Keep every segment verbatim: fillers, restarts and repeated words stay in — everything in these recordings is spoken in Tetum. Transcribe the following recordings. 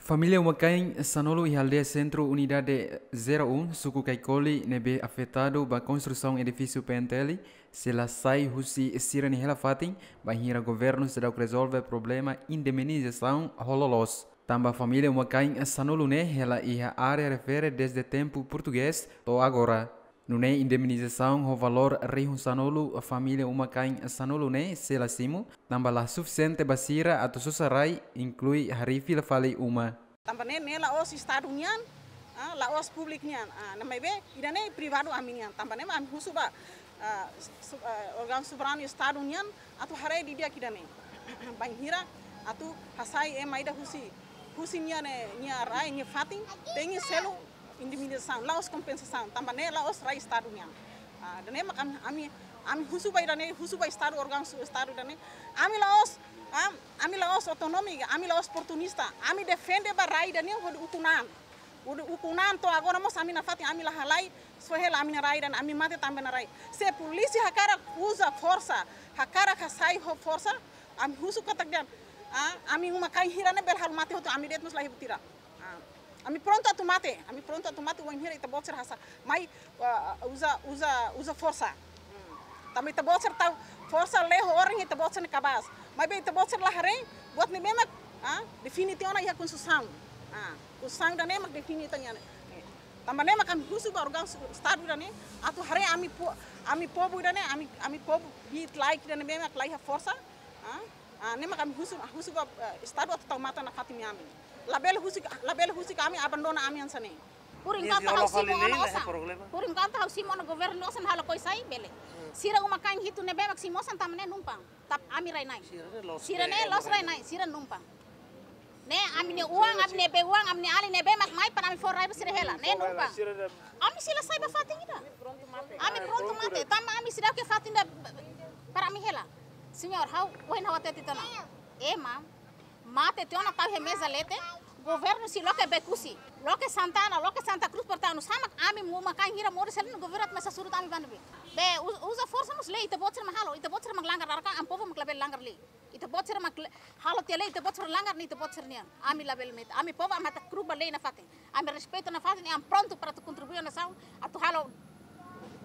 Família uma-kain sanulu iha aldeia sentru unidade zero um, suku Kaikoli, ne'ebé afetadu ba konstrusaun edifísiu P N T L, sei la sai husi sira-nia hela-fatin, bainhira governu seidauk rezolve problema indemnizasaun ho loloos. Tanba família uma-kain sanulu ne'e hela iha área refere dezde tempu portugés to'o agora. Nune'e indemnizasaun ho valór rihun sanulu família uma-kain sanulu ne'e sei la simu, tanba la sufisiente ba sira atu sosa rai, inklui harii fila fali uma. Tanba ne'e, ne'e la'ós Estadu nian, ah, la'ós públiku nian, ah, ne'e maibé ida-ne'e privadu ami nian. Tanba ne'e mak ami husu ba, ah, su-, ah, órgaun soberanu Estadu nian atu haree didi'ak ida-ne'e. Bainhira atu hasai ema ida husi, husi nia ne'e, nia rai, nia fatin, tenke selu indemnizasaun, la'ós kompensasaun, tanba ne'e la'ós rai Estadu nian. Ah, ida-ne'e mak ami, ami, ami husu ba ida-ne'e, husu ba Estadu, órgaun su-, Estadu ida-ne'e. Ami la'ós, ah, ami la'ós otonomi, ami la'ós oportunista, ami defende ba rai ida-ne'e hodi ukun an. Hodi ukun an to'o agora mós ami nafatin, ami la halai, só hela ami-nia rai ida-ne'e, ami mate tanba nia rai. Se polísia hakarak uza forsa, hakarak hasai ho forsa, ami husu katak dehan, ah, ami uma-kain hira ne'e bele halo mate hotu, ami de'it mós la iha buat ida. Ah, ami prontu atu mate, ami prontu atu mate, wainhira ita-boot sira hasai. Mai, ah, uza, uza, uza forsa. Hmm. Tanba ita-boot sira tau forsa, lei ho ordem ita-boot sira ne'e kabaas. Maibé ita-boot sira la haree, buat ne'ebé mak, ah, define tiha ona iha konstituisaun. Ah, konstituisaun ida-ne'e mak define ita-nia ne'e. Tanba ne'e mak ami husu ba órgaun su-, Estadu ida-ne'e, atu haree ami po-, ami povu ida-ne'e, ami, ami povu hi'it-laek ida-ne'ebé mak la iha forsa. Ah, ah, ne'e mak ami husu, husu ba, eh, Estadu atu tau matan nafatin ami. Labele husik, labele husik ami, abandona ami hanesan ne'e. Por enkuantu ha'u simu ona osan. Por enkuantu ha'u simu ona governu osan halo koi sai, bele. Sira uma-kain hitu ne'ebé mak simu osan tanba ne'e numpang. Tapi ami rai-na'in. Sira ne'e loos rai-na'in, sira numpang. Ne'e ami-nia oan, ami-nia bee-oan, ami-nia alin ne'ebé mak mai para ami fó rai ba sira hela. Ne'e numpang. Ami sei la sai ba fatin ida. Ami prontu mate. Tanba ami seidauk iha fatin ida para ami hela. Señór, ha'u, ohin ha'u hatete tiha ona. Ema mate tiha ona tau iha meza leten, governu sei loke Bekusi, loke Santana, loke Santa Cruz para tau, no sama ami uma-kain hira moris selin, governu atu mai sasuru ami ba ne'ebé? Be, u-, uza forsa mós lei, ita-boot sira mak halo, ita-boot sira mak langgar, dala ruma ami povu mak labele langgar lei. Ita-boot sira mak le-, halo tiha lei, ita-boot sira langgar ne'e ita-boot sira nian. Ami labele metin. Ami povu ami atu kruba lei nafatin. Ami respeitu nafatin, ami prontu para atu kontribui nasaun, atu halo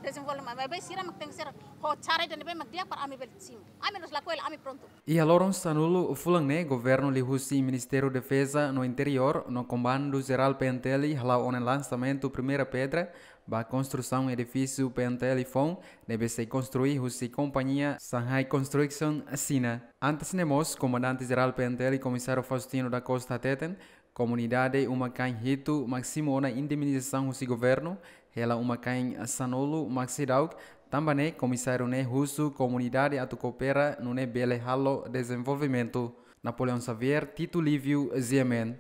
dezenvolvimentu. Maibé sira mak tenke ser ho cara ida ne'ebé mak di'ak para ami bele simu. Ami la'ós lakohi hela, ami prontu. Iha loron sanulu fulan ne'e, governu liuhusi Ministériu Defeza no Interiór no Komandu Jerál P N T L hala'o ona lansamentu primeira pedra ba konstrusaun edifísiu P N T L foun ne'ebé sei konstrui husi kompañia Shanghai Construction Xina. Antes ne'e mós, Komandante Jerál P N T L, Komisáriu Faustino da Costa hateten, komunidade uma-kain hitu mak simu ona indemnizasaun husi governu, hela uma-kain sanulu mak seidauk, tanba ne'e komisáriu ne'e husu komunidade atu koopera nune'e bele halo dezenvolvimentu. Napoleão Xavier, Tito Lívio, G M N.